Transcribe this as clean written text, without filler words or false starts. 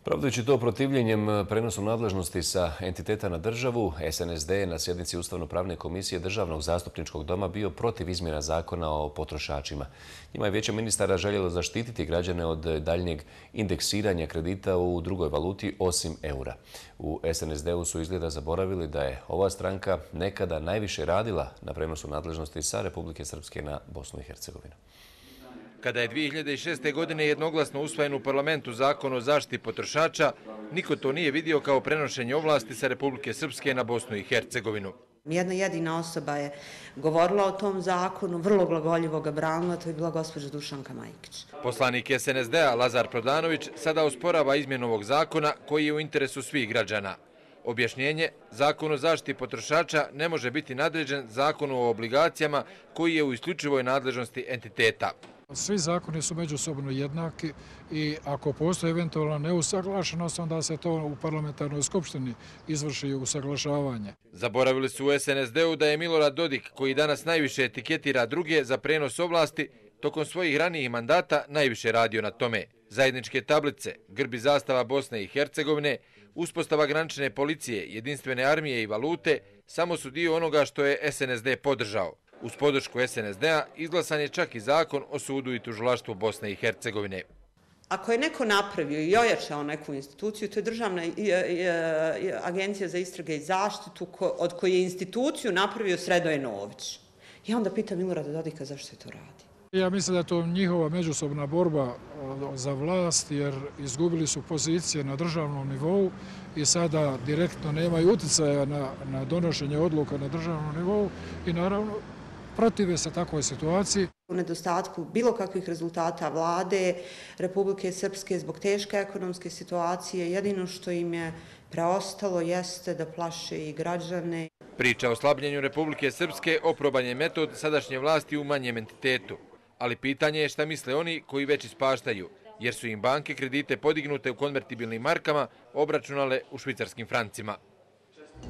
Pravdajući to protivljenjem prenosu nadležnosti sa entiteta na državu, SNSD je na sjednici Ustavno-pravne komisije Državnog zastupničkog doma bio protiv izmjena zakona o potrošačima. Njima je Vijeće ministara željelo zaštititi građane od daljnjeg indeksiranja kredita u drugoj valuti osim eura. U SNSD-u su izgleda zaboravili da je ova stranka nekada najviše radila na prenosu nadležnosti sa Republike Srpske na Bosnu i Hercegovinu. Kada je 2006. godine jednoglasno usvojen u parlamentu zakon o zaštiti potrošača, niko to nije vidio kao prenošenje ovlasti sa Republike Srpske na Bosnu i Hercegovinu. Jedna jedina osoba je govorila o tom zakonu, vrlo glagoljivo ga branila, to je bila gospođa Dušanka Majkić. Poslanik SNSD-a Lazar Prodanović sada osporava izmjenu ovog zakona koji je u interesu svih građana. Objašnjenje, zakon o zaštiti potrošača ne može biti nadređen zakonu o obligacijama koji je u isključivoj nadležnosti entiteta. Svi zakoni su međusobno jednaki i ako postoji eventualna neusaglašenost, onda se to u parlamentarnoj skupštini izvrši usaglašavanje. Zaboravili su u SNSD-u da je Milorad Dodik, koji danas najviše etiketira druge za prenos ovlasti, tokom svojih ranijih mandata najviše radio na tome. Zajedničke tablice, grb i zastava Bosne i Hercegovine, uspostava granične policije, jedinstvene armije i valute samo su dio onoga što je SNSD podržao. Uz podršku SNSD-a izglasan je čak i zakon o sudu i tužilaštvu Bosne i Hercegovine. Ako je neko napravio i ojačao neku instituciju, to je Državna agencija za istrage i zaštitu, od koje je instituciju napravio Sredoje Nović. Ja onda pitam Milorada Dodika zašto je to radi. Ja mislim da je to njihova međusobna borba za vlast, jer izgubili su pozicije na državnom nivou i sada direktno nemaju utjecaja na donošenje odluka na državnom nivou i naravno protive se takvoj situaciji. U nedostatku bilo kakvih rezultata vlade Republike Srpske zbog teške ekonomske situacije, jedino što im je preostalo jeste da plaše i građane. Priča o slabljenju Republike Srpske oproban je metod sadašnje vlasti u manjem entitetu. Ali pitanje je šta misle oni koji već ispaštaju, jer su im banke kredite podignute u konvertibilnim markama obračunale u švicarskim francima.